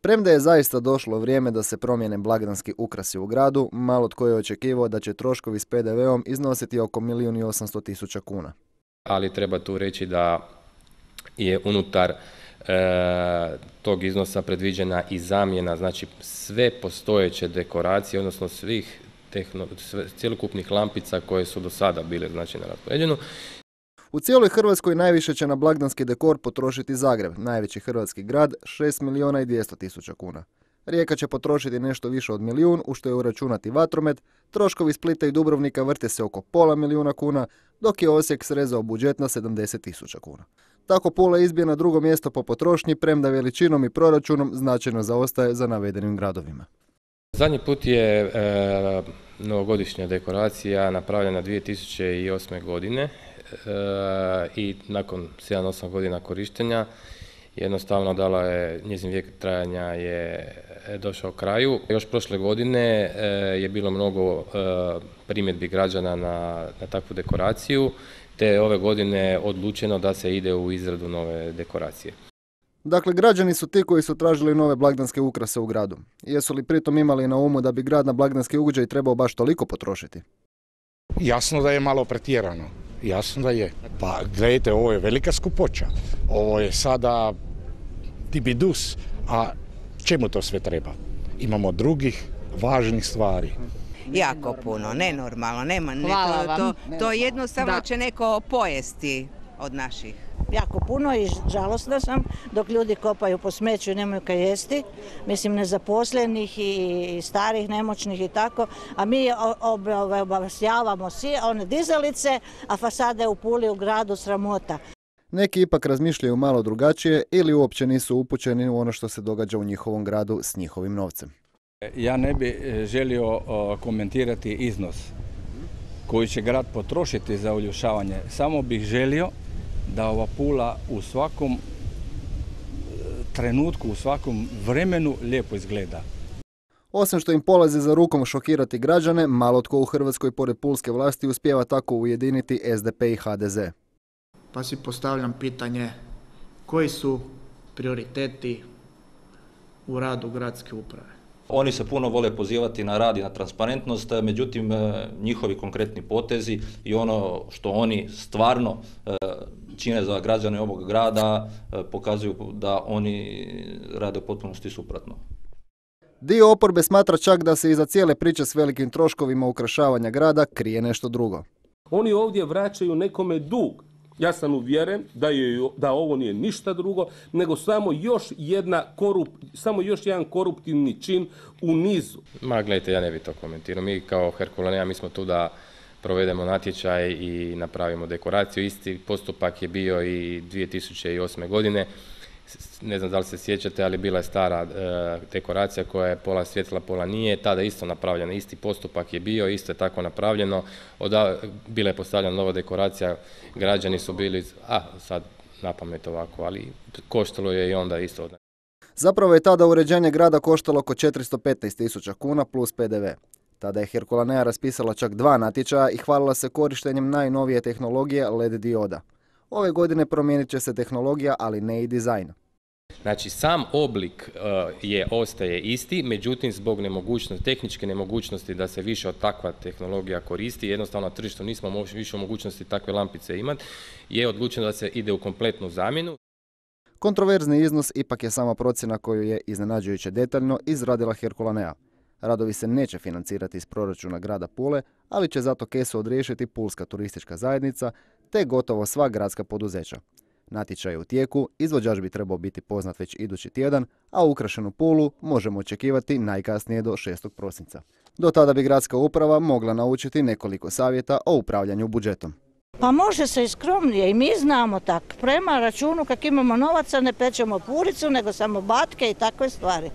Premda je zaista došlo vrijeme da se promijene blagdanski ukrasi u gradu, malo tko je očekivao da će troškovi s PDV-om iznositi oko 1.800.000 kuna. Ali treba tu reći da je unutar tog iznosa predviđena i zamjena, znači sve postojeće dekoracije, odnosno svih cjelokupnih lampica koje su do sada bile znači na raspoređenju. U cijeloj Hrvatskoj najviše će na blagdanski dekor potrošiti Zagreb, najveći hrvatski grad, 6.200.000 kuna. Rijeka će potrošiti nešto više od 1.000.000, u što je uračunati vatromet, troškovi Splita i Dubrovnika vrte se oko $500.000 kuna, dok je Osijek srezao budžet na 70.000 kuna. Tako Pula izbije na drugo mjesto po potrošnji, premda veličinom i proračunom značajno zaostaje za navedenim gradovima. Zadnji put je novogodišnja dekoracija napravljena 2008. godine i nakon 7-8 godina korištenja jednostavno dala je, njezin vijek trajanja je došao kraju. Još prošle godine je bilo mnogo primjedbi građana na takvu dekoraciju, te ove godine odlučeno da se ide u izradu nove dekoracije. Dakle, građani su ti koji su tražili nove blagdanske ukrase u gradu. Jesu li pritom imali na umu da bi grad na blagdanski ugođaj trebao baš toliko potrošiti? Jasno da je malo pretjerano. Jasno da je. Pa gledajte, ovo je velika skupoća. Ovo je sada tibidus, a čemu to sve treba? Imamo drugih važnih stvari. Jako puno, nenormalno, nema to jednostavno će neko pojesti od naših. Jako puno i žalosna sam dok ljudi kopaju po smeću i nemaju kaj jesti. Mislim, nezaposlenih i starih, nemoćnih i tako. A mi obavjavamo one dizalice, a fasade u Puli u gradu sramota. Neki ipak razmišljaju malo drugačije ili uopće nisu upućeni u ono što se događa u njihovom gradu s njihovim novcem. Ja ne bih želio komentirati iznos koji će grad potrošiti za uljušavanje. Samo bih želio da ova Pula u svakom trenutku, u svakom vremenu lijepo izgleda. Osim što im polazi za rukom šokirati građane, malo tko u Hrvatskoj pored pulske vlasti uspijeva tako ujediniti SDP i HDZ. Pa si postavljam pitanje koji su prioriteti u radu gradske uprave. Oni se puno vole pozivati na rad i na transparentnost, međutim njihovi konkretni potezi i ono što oni stvarno čine za građane ovog grada pokazuju da oni rade u potpunosti suprotno. Dio oporbe smatra čak da se iza cijele priče s velikim troškovima ukrašavanja grada krije nešto drugo. Oni ovdje vraćaju nekome dug. Ja sam uvjeren da ovo nije ništa drugo, nego samo još jedan koruptivni čin u nizu. Ma gledajte, ja ne bih to komentirao. Mi kao Herkulanea, mi smo tu da provedemo natječaj i napravimo dekoraciju. Isti postupak je bio i 2008. godine. Ne znam da li se sjećate, ali bila je stara dekoracija koja je pola svjetla, pola nije. Tada isto napravljena, isti postupak je bio, isto je tako napravljeno. Bila je postavljena nova dekoracija, građani su bili, sad napamet ovako, ali koštalo je i onda isto. Zapravo je tada uređenje grada koštalo oko 415.000 kuna plus PDV. Tada je Herkulanea raspisala čak 2 natječaja i hvalila se korištenjem najnovije tehnologije LED dioda. Ove godine promijenit će se tehnologija, ali ne i dizajn. Znači, sam oblik ostaje isti, međutim, zbog tehničke nemogućnosti da se više od takva tehnologija koristi, jednostavno na tržištu nismo više mogućnosti takve lampice imati, je odlučeno da se ide u kompletnu zamjenu. Kontroverzni iznos ipak je sama procjena koju je iznenađujuće detaljno izradila Herkulanea. Radovi se neće financirati iz proračuna grada Pule, ali će zato kesu odriješiti Pulska turistička zajednica te gotovo sva gradska poduzeća. Natječaj je u tijeku, izvođač bi trebao biti poznat već idući tjedan, a ukrašenu Pulu možemo očekivati najkasnije do 6. prosinca. Do tada bi gradska uprava mogla naučiti nekoliko savjeta o upravljanju budžetom. Pa može se i skromnije i mi znamo tako. Prema računu kak imamo novaca ne pečemo puricu, nego samo batke i takve stvari.